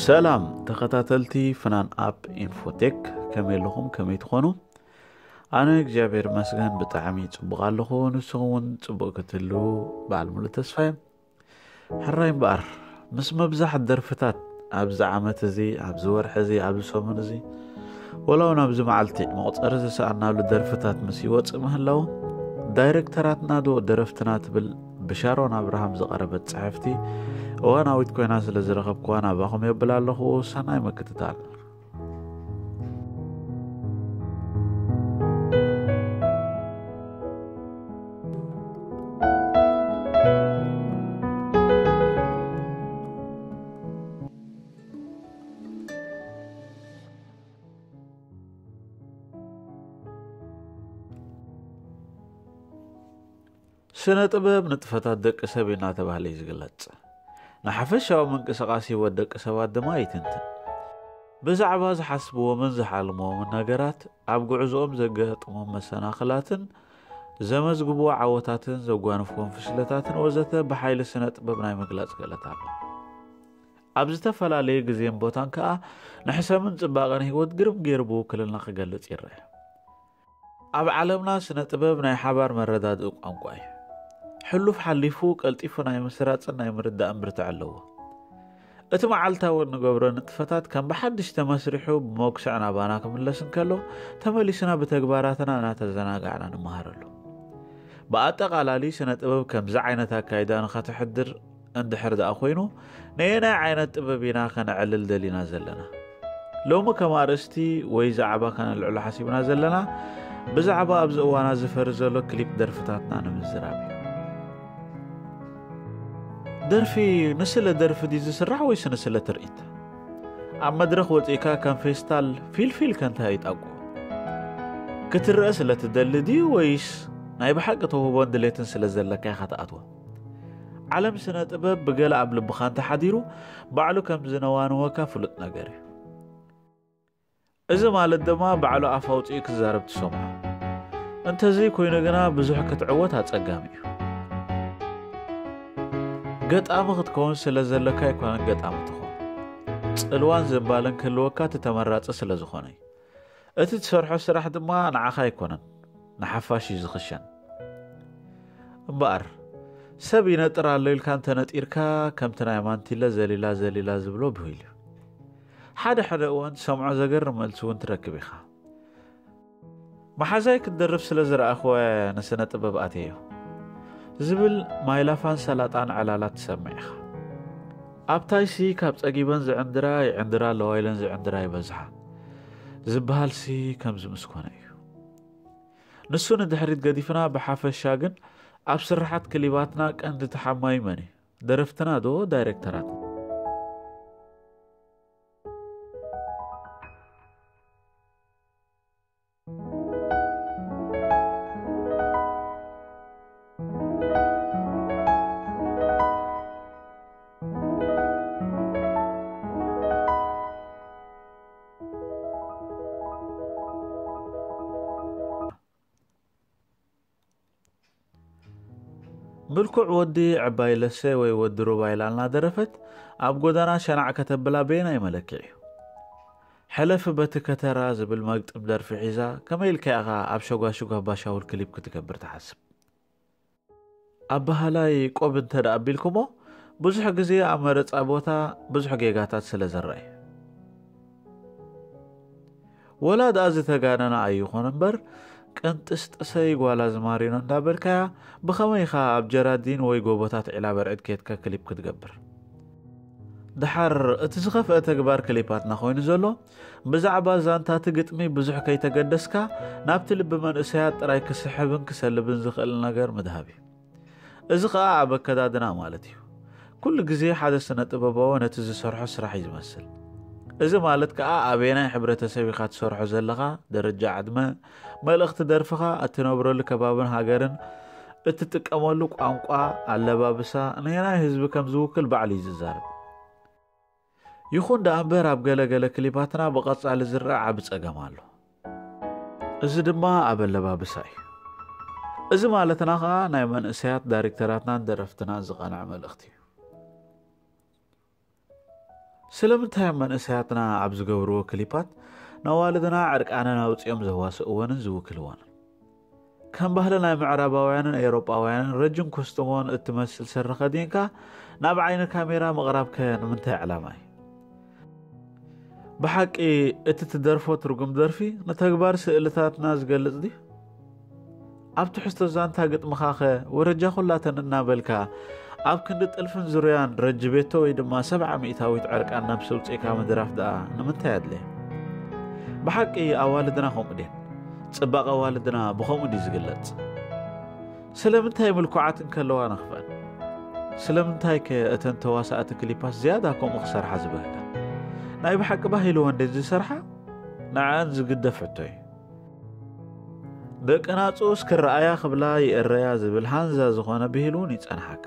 ሰላም ተኸታተልቲ ፍናን ኣፕ ኢንፎቴክ፣ ከመይ ኣለኹም? ከመይ ትኾኑ? ኣነ እግዚኣብሔር ይመስገን ብጣዕሚ ጽቡቕ ኣለኹ። ንስኹም እውን ጽቡቕ ክትህልዉ በዓል ሙሉእ ተስፋ እየ። ሕራይ እምበኣር፣ ምስ ምብዛሕ ደርፍታት ኣብዚ ዓመት እዚ፣ ኣብዚ ወርሒ እዚ፣ ኣብዚ ሰሙን እዚ፣ ወላ እውን ኣብዚ መዓልቲ መቑጸሪ ዝሰኣናሉ ደርፍታት ምስ ይወጽእ ምህላዉ፣ ዳይሬክተራትና ዶ ደረፍትና ትብል ብሻሮን ኣብርሃም ዝቐረበት ጽሕፍቲ እዋናዊት ኮይና ስለ ዝረኸብኩዋ ናባኹም የብል ኣለኹ። ሰናይ ምክትታል። ስነ ጥበብ ንጥፈታት ደቂ ሰብ እናተባህለ እዩ ዝግለጽ። ንሓፈሻዊ ምንቅስቓስ ህይወት ደቂ ሰባት ድማ ይትንትን። ብዛዕባ ዝሓስብዎምን ዝሓልምዎምን ነገራት፣ ኣብ ጉዕዞኦም ዘጋጥሞም መሰናኽላትን ዘመዝግብዎ ዓወታትን ዘጓንፍዎም ፍሽለታትን ወዘተ ብሓይሊ ስነ ጥበብ ናይ ምግላጽ ክእለት ኣሎ። ኣብ ዝተፈላለየ ግዜን ቦታን ከኣ ንሕሰምን ጽባቐን ህይወት ግርም ገይሩ ብውክልና ክገልጽ ይረአ። ኣብ ዓለምና ስነ ጥበብ ናይ ሓባር መረዳድኢ ቋንቋ እዩ። ሕሉፍ ሓሊፉ ቀልጢፉ ናይ ምስራጽን ናይ ምርዳእን ብርትዐ ኣለዎ። እቲ መዓልታዊ እንገብሮ ንጥፈታት ከም ብሓድሽ ተመስሪሑ ብመጉስዕ ናባና ክምለስ እንከሎ፣ ተመሊስና ብተግባራትና እናተዘናጋዕና ንመሃረሉ። ብኣጠቓላሊ ስነ ጥበብ ከምዚ ዓይነት ኣካይዳ ንኸተሕድር እንድሕር ደኣ ኮይኑ፣ ነየናይ ዓይነት ጥበብ ኢና ከነዕልል ደሊና ዘለና? ሎሚ ከም ኣርእስቲ ወይ ዛዕባ ከነልዕሎ ሓሲብና ዘለና፣ ብዛዕባ ኣብዚ እዋና ዝፈሪ ዘሎ ክሊፕ ደርፍታትና ንምዝራብ እዩ። ደርፊ ንስለ ደርፊ ድዩ ዝስራሕ ወይስ ንስለ ትርኢት? ኣብ መድረኽ ወጺእካ ከም ፌስታል ፊልፊል ከንታ ይጣቁ። ክትረአ ስለ ትደሊ ድዩ ወይስ ናይ ብሓቂ ተውህቦን ድሌትን ስለ ዘለካ ኢኻ ትኣትዎ? ዓለም ስነ ጥበብ ብገለ ኣብ ልብኻ እንተሓዲሩ፣ ባዕሉ ከም ዝነዋንወካ ፍሉጥ ነገር እዩ። እዚ ማለት ድማ ባዕሉ ኣፍ ኣውጺኡ ክዛረብ ትሰምዖ። እንተዘይ ኮይኑ ግና ብዙሕ ክትዕወት ኣጸጋሚ እዩ። ገጣሚ ክትከውን ስለ ዘለካ ኣይኮነን ገጣሚ ትኾን። ጽልዋን ዝንባለን ክህልወካ እቲ ተመራጺ ስለ ዝኾነ እዩ። እቲ ትሰርሖ ስራሕ ድማ ንዓኻ ኣይኮነን፣ ንሓፋሽ እዩ ዝኽሸን። እምበኣር፣ ሰብ ይነጥር ኣሎ ኢልካ እንተነጢርካ፣ ከምቲ ናይ ማንቲለ ዘሊላ ዘሊላ ዝብሎ ብሂል እዩ። ሓደ ሓደ እዋን ትሰምዖ ዘገርም መልሲ እውን ትረክብ ኢኻ። መሓዛይ ክትደርፍ ስለ ዝረኣኽዎ ንስነ ጥበብ ኣትየዮ ዝብል ማይላፋን ሰላጣን ዕላላት ትሰምዕ ኢኻ። ኣብታይሲ ካብ ጸጊበን ዝዕንድራ ይዕንድራ ኣለዋ ኢለን ዝዕንድራ ይበዝሓ ዝበሃልሲ ከምዚ ምስ ኮነ እዩ። ንሱ ንድሕሪት ገዲፍና፣ ብሓፈሻ ግን ኣብ ስርሓት ክሊባትና ቀንዲ ተሓማዩ መን እዩ? ደረፍትና ዶ ዳይሬክተራትና? ምልኩዕ ወዲ ዕባይ ለሰ ወይ ወዲ ሩባ ኢላ እናደረፈት ኣብ ጎዳና ሸናዕ ከተብላ በየናይ መለክዒ እዩ? ሕለፊ በቲ ከተራ ዝብል መግጥም ደርፊ ሒዛ ከመይ ኢልካ ኢኻ ኣብ ሸጓሽጓ ባሻውል ክሊፕ ክትገብር ትሓስብ? ኣበሃላይ ቆብ እንተ ደኣ ኣቢልኩሞ ብዙሕ ግዜ ኣብ መረጻ ቦታ ብዙሕ ጌጋታት ስለ ዝረኣዩ። ወላ ደኣ ዝተጋነነ ኣይኾነ እምበር፣ ቅንጥስጥሰይ ጓል ኣዝማሪኖ እንዳበልካያ፣ ብኸመይ ኢኻ ኣብ ጀራዲን ወይ ጎቦታት ዒላ በርዕድ ኬድካ ክሊፕ ክትገብር? ደሓር እቲ ዝኸፍአ ተግባር ክሊፓትና ኮይኑ ዘሎ፣ ብዛዕባ ዛንታ እቲ ግጥሚ ብዙሕ ከይተገደስካ፣ ናብቲ ልቢ መንእሰያት ጥራይ ክስሕብን ክሰልብን ዝኽእል ነገር ምድሃብ እዩ። እዚ ኸኣ ኣብ ኣከዳድና ማለት እዩ። ኩሉ ግዜ ሓደ ስነ ጥበባዊ ነቲ ዝሰርሖ ስራሕ እዩ ዝመስል። እዚ ማለት ከኣ ኣበየናይ ሕብረተሰብ ኢኻ ትሰርሖ ዘለኻ፣ ደረጃ ዕድመ፣ መልእኽቲ ደርፍኻ፣ እትነብረሉ ከባብን ሃገርን፣ እትጥቀመሉ ቋንቋ፣ ኣለባብሳ፣ ነየናይ ህዝቢ ከም ዝውክል ባዕሉ እዩ ዝዛረብ። ይኹን ደኣ እምበር ኣብ ገለ ገለ ክሊፓትና ብቐጻሊ ዝረኣ ዓቢ ጸገም ኣሎ። እዚ ድማ ኣብ ኣለባብሳ እዩ። እዚ ማለትና ኸኣ ናይ መንእሰያት ዳይሬክተራትናን ደረፍትናን ዝቐንዐ መልእኽቲ እዩ። ስለምንታይ እዮም መንእሰያትና ኣብ ዝገብርዎ ክሊፓት ነዋልድና ዕርቃነን ኣውፂኦም ዘዋስእወንን ዝውክልወንን? ከም ባህሊ ናይ ምዕራባውያንን ኤውሮጳውያንን ረጅን ኮስትሞን እትመስል ስረ ከዲንካ ናብ ዓይኒ ካሜራ ምቕራብከ ንምንታይ ዕላማ እዩ? ብሓቂ እቲ ትደርፎ ትርጉም ደርፊ ንተግባር ስእልታትና ዝገልጽ ድዩ? ኣብ ትሕዝቶ ዛንታ ግጥምኻኸ ወረጃ ኩላተን እናበልካ ኣብ ክንዲ ጥልፍን ዙርያን ረጅ ቤቶ ወይ ድማ ሰብዓ ሚእታዊት ዕርቃን ናብ ሰውፅእካ ምድራፍ ደኣ ንምንታይ ኣድለየ? ብሓቂ ኣዋልድና ከምኡ ድየን? ጽባቐ ኣዋልድና ብኸምኡ ድዩ ዝግለጽ? ስለምንታይ ምልኩዓት እንከለዋ ነኽፍአን? ስለምንታይ ከ እተን ተዋሳእቲ ክሊፓት ዝያዳ ከምኡ ክሰርሓ ዝበህጋ? ናይ ብሓቂ ባህ ኢልወን ድየን ዝሰርሓ? ንዓን ዝግደፍ ሕቶ እዩ። ደቂ ናጹስ ክረኣያ ክብላ ይእረያ ዝብል ሃንዛ ዝኾነ ብሂል እውን ይጸንሓካ።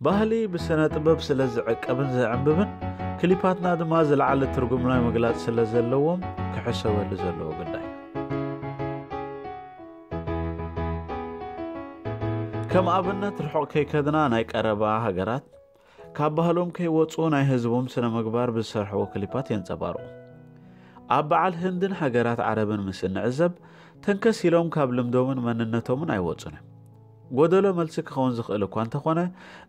ባህሊ ብስነ ጥበብ ስለ ዝዕቀብን ዝዕንብብን ክሊፓትና ድማ ዝለዓለ ትርጉም ናይ ምግላጽ ስለ ዘለዎም ክሕሰበሉ ዘለዎ ጉዳይ። ከም ኣብነት ርሑቕ ከይከድና ናይ ቀረባ ሃገራት ካብ ባህሎም ከይወፁ ናይ ህዝቦም ስነ ምግባር ብዝሰርሕዎ ክሊፓት የንጸባርቑ። ኣብ በዓል ህንድን ሃገራት ዓረብን ምስ እንዕዘብ ተንከስ ኢሎም ካብ ልምዶምን መንነቶምን ኣይወፁን እዮም። ጎደሎ መልሲ ክኸውን ዝኽእል እኳ እንተኾነ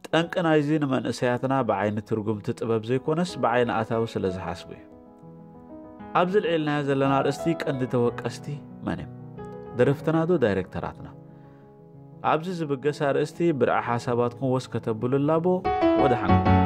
ጠንቂ ናይዚ ንመንእሰያትና ብዓይኒ ትርጉምቲ ጥበብ ዘይኮነስ ብዓይኒ ኣታዊ ስለ ዝሓስቡ እዩ። ኣብዚ ልዒልናዮ ዘለና ኣርእስቲ ቀንዲ ተወቀስቲ መን እዮም? ደረፍትና ዶ ዳይሬክተራትና? ኣብዚ ዝብገስ ኣርእስቲ ብርዒ ሓሳባትኩም ወስ ከተብሉ ላቦ። ወደ ሓንኩም።